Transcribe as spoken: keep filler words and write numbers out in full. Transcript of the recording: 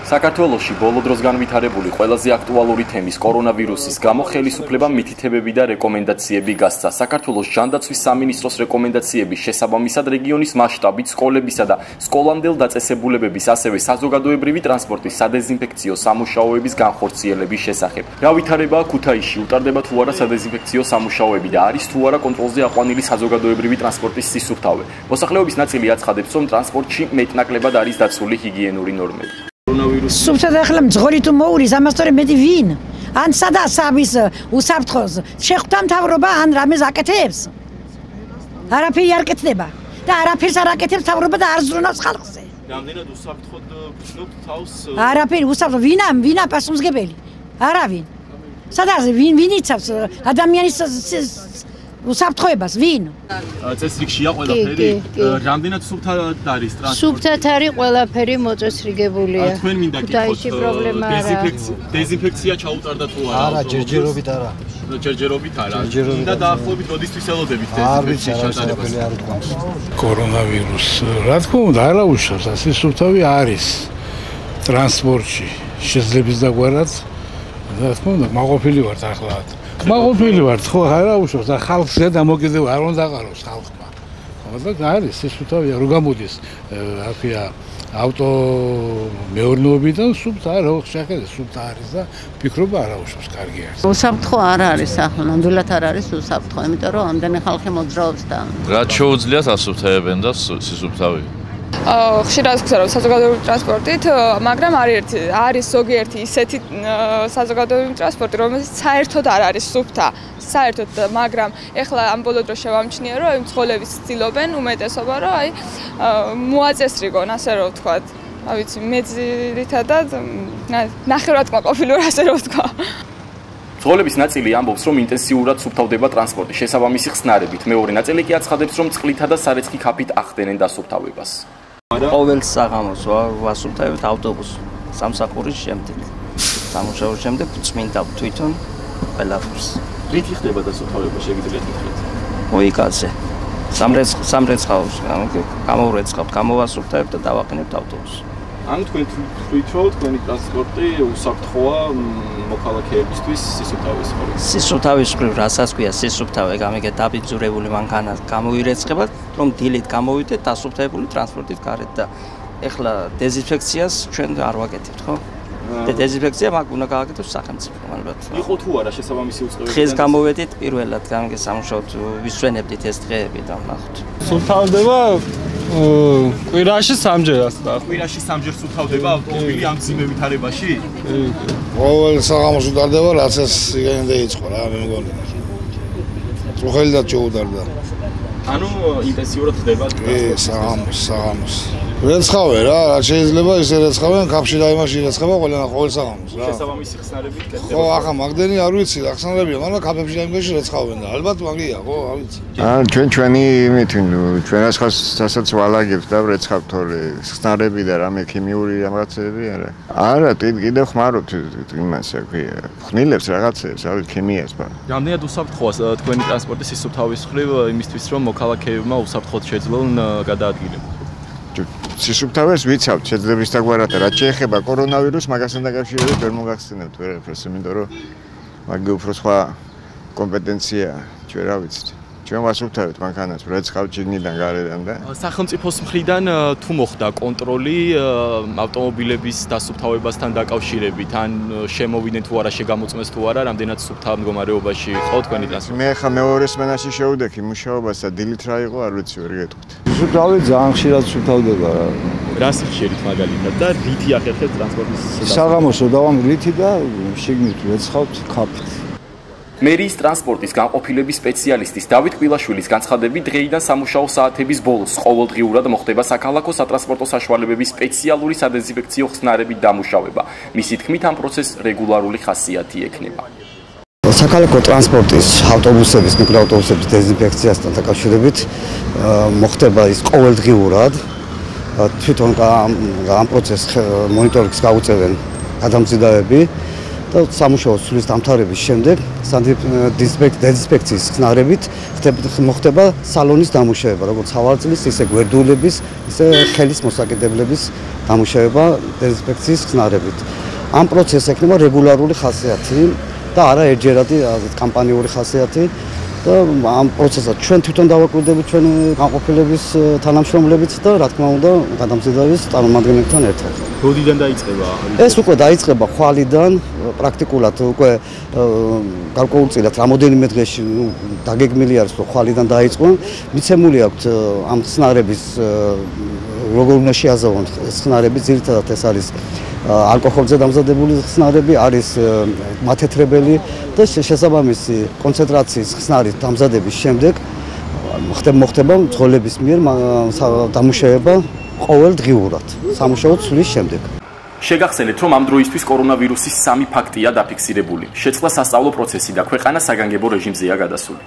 საქართველოში ბოლო დროს განვითარებული ყველაზე აქტუალური თემის კორონავირუსის გამო ხელისუფლებამ მითითებები და რეკომენდაციები გასცა. საქართველოს ჯანდაცვის სამინისტროს რეკომენდაციების შესაბამისად რეგიონის მასშტაბით სკოლებისა და სკოლამდელ დაწესებულებების, ასევე საზოგადოებრივი ტრანსპორტის სადეზინფექციო სამუშაოების განხორციელების შესახებ. რა ვითარებაა ქუთაისში, უტარდება თუ არა სადეზინფექციო სამუშაოები და არის თუ არა კონტროლზე აყვანილი საზოგადოებრივი ტრანსპორტის სისუფთავე. მოსახლეობის ნაწილი აცხადებს, რომ ტრანსპორტში მეტნაკლებად არის დაცული ჰიგიენური ნორმები. Subția de hlam zgori tu mouri, zamastore medi vin. An sada sabis usabtxoz. Shekhtam tavroba an ramez aketebs. Arapi yarketeba. Da arapis araketebs tavroba da arzrunas xalqse. Რამდენად უსაფრთხოდ გრძნობთ თავს? Arapi usabtxo vina vina pasumsgebeli. Aravin. Sadაზე vin vinitsavs ადამიანის უსაფრთხოებას ვინ? წესრიგშია ყველაფერი. რამდენად სუფთად არის ტრანსპორტი? სუფთად არის ყველაფერი მოწესრიგებულია. თქვენ მინდა გითხოთ დეზინფექცია ჩაუტარდა თუ არა? არა, ჯერჯერობით არა. ჯერჯერობით არა. და დაახლოებით როდისთვის ელოდებით დეზინფექციის ჩატარებას? არ ვთქვამს. კორონავირუს, რა თქმა უნდა, არ აუშავს, ასე სუფთავი არის ტრანსპორტში. შესაძლებელი დაგვარად, რა თქმა უნდა, მაყოფილი ვართ ახლა. მაყოფილი ვართ, ხო, არ აუშავს და ხალხს ზედამოკიდევ არ უნდა აყაროს ხალხმა. ხო, და არის სისუფთავია, რო გამოდის, რა ქვია, ავტო მეურნეობიდან სუფთა რა შეხედე, სუფთა არის და ფიქრობა არ აუშავს, კარგი არის. უსაფრთხო არ არის ახლა, ნამდვილად არ არის უსაფრთხო, იმიტომ რომ ამდენი ხალხი მოძრაობს და რა შეუძლიათ ასუფთავებენ და სისუფთავი. ხშირად ვქცევ რომ საზოგადოებრივი ტრანსპორტით, მაგრამ არის არის ზოგიერთი ისეთი საზოგადოებრივი ტრანსპორტი, რომელსაც საერთოდ არ არის სუფთა, საერთოდ, მაგრამ ეხლა ამ ბოლო დროს შევამჩნიე, რომ იმ მცხოვრებიც ცდილობენ უმეტესობა, რომ აი მოაწესრიგონ, ასე რომ ვთქვათ. რა ვიცი, მე ძირითადად ნახევრად ყოფილი ვარ, ასე რომ ვთქვა. მცხოვრების ნაწილი ამბობს, რომ ინტენსიურად სუფთავდება ტრანსპორტი შესაბამისი ხსნარებით. მეორე ნაწილი კი აცხადებს, რომ წყლითა და სარეცხი ქაფით ახდენენ დასუფთავებას. ყოველ საღამოს ვასუფთავებთ ავტობუსს სამსახურის შემდეგ. სამუშაოს შემდეგ წმინდა თვითონ ყველაფერს. რითი ხდება დასუფთავება, შეგიძლიათ გითხრათ? ой, კაცე. სამრეცხ სამრეცხავს გამოვრეცხავთ, გამოვასუფთავებთ და დავაყენებთ ავტობუსს. ან თქვენ თვით რომ თქვენი ტრანსპორტი უსაფრთხოა მოქალაქეებისთვის სისუფთავის მხრივ. სისუფთავის მხრივ რასაც ქვია სისუფთავე, გამიგეთ დაბიძურებული მანქანა გამოვირეცხებათ, რომ დილით გამოვიდეთ დასუფთავებული ტრანსპორტით გარეთ და ეხლა დეზინფექციას ჩვენ არ ვაკეთებთ, ხო? და დეზინფექცია მაგ უნდა გააკეთოს სახელმწიფო ალბათ. იყო თუ არა შესაბამისი უწყებები? დღეს გამოვედით პირველად, გამიგეთ სამუშაოდ ვისვენებდით ეს დღეები და ვნახოთ. სუფთავდება კვირაში სამჯერ ასა. კვირაში სამჯერ სუფთავდება ავტომობილი ამ ძიმე ვითარებაში? ყოველ საღამოს უტარდება, რაც ეს იგენე დაიწყო რა, მე მგონი. წუხელიდან ჩაუტარდა. ანუ ინტენსიურად ხდება? კი, საღამოს, საღამოს. რეცხავენ რა, რა შეიძლება ისე რეცხავენ, კაფში და იმაში რეცხება ყველა ყოველ საღამოს რა. შესაბამისი ხსნარებით კეთდება. ხო, ახლა მაგდენი არ ვიცი, რა ხსნარებია, მაგრამ კაფებში და იმაში რეცხავენ და ალბათ მაგია, ხო, არ ვიცი. ან ჩვენ ჩვენი იმით, ჩვენას ხასაც ვალაგებთ და რეცხავთ თორე ხსნარები და რამე ქიმიური რაღაცები არა. არა, კიდევ ხმარობთ იმას, რა ქვია, ხნილებს რაღაცებს, რა ვიცი, ქიმიას ბა. რამდენად უსაფრთხოა თქვენი ტრანსპორტის სისუფთავის მხრივ იმისთვის, რომ მოქალაქეებმა უსაფრთხოდ შეძლონ გადაადგილება? სისუფთავეს ვიცავთ, შეძლებს დაგვარად, რაც შეეხება კორონავირუსს, მაგასთან დაკავშირებით ვერ მოგახსენებთ ვერაფერს, იმიტომ რომ მაგი უფრო სხვა კომპეტენცია, ჩვენ რა ვიცით. ჩვენ ვასუფთავებთ მანქანას, რეცხავთ შიგნიდან გარედან და სახელმწიფოს მხრიდან თუ მოხდა კონტროლი ავტომობილების დასუფთავებასთან დაკავშირებით, ან შემოვიდნენ თუ არა, შეგამოწმეს თუ არა, რამდენად სუფთა მდგომარეობაში იყო თქვენი ტრანსპორტი? მე ხა მეორე სმენაში შევდექი მუშაობას და დილით რა იყო, არ ვიცი, ვერ გეტყვით. სუფთავი ძალიან ხშირად სუფთავდება რა. რა სიხშირით მაგალითად და რითი ახერხებთ ტრანსპორტის შესაძლებლობას? საღამოს დავამ რითი და შიგნით რეცხავთ ქაფით. მერიის ტრანსპორტის განყოფილების სპეციალისტის დავით კვილაშვილის განცხადებით, დღეიდან სამუშაო საათების ბოლოს ყოველდღიურად მოხდება საქალაქო სატრანსპორტო საშუალებების სპეციალური სადეზინფექციო ხსნარებით დამუშავება. მისი თქმით, ამ პროცესს რეგულარული ხასიათი ექნება. საქალაქო ტრანსპორტის ავტობუსების, მიკროავტობუსების დეზინფექციასთან დაკავშირებით მოხდება ის ყოველდღიურად. თვითონ ამ პროცესს მონიტორინგს გაუწევენ გადამზიდავები. და სამუშაო სulis დამთავრების შემდეგ დეზინფექციის ხსნარებით მოხდება სალონის დამუშავება, როგორც ხავარწლის, ისე გვერდულების, ისე ხელის მოსაკიდებლების დამუშავება დეზინფექციის ხსნარებით. ამ პროცესს ექნება რეგულარული ხასიათი და არა ერთჯერადი კამპანიური ხასიათი. და ამ პროცესად ჩვენ თვითონ დავაკვირდებით ჩვენ განყოფილების თანამშრომლებით და რა თქმა უნდა გადამზიდვის წარმომადგენლებთან ერთად. როდიდან დაიწყება? ეს უკვე დაიწყება ხვალიდან, პრაქტიკულად უკვე გარკვეულწილად რამოდენიმე დღეში დაგეგმილი არის რომ ხვალიდან დაიწყო. მიცემული აქვს ამ ხსნარების როგორ უნდა შეაზავონ ხსნარები, ძირითადად ეს არის ალკოჰოლზე დამზადებული ხსნარები, არის მათეთრებელი და შესაბამისი კონცენტრაციის ხსნარის დამზადების შემდეგ მოხდება მძღოლების მიერ დამუშავება ყოველდღიურად სამუშაო ცვლის შემდეგ. შეგახსენეთ, რომ ამ დროისთვის კორონავირუსის სამი ფაქტია დაფიქსირებული. შეწყდა სასწავლო პროცესი და ქვეყანა საგანგებო რეჟიმზეა გადასული.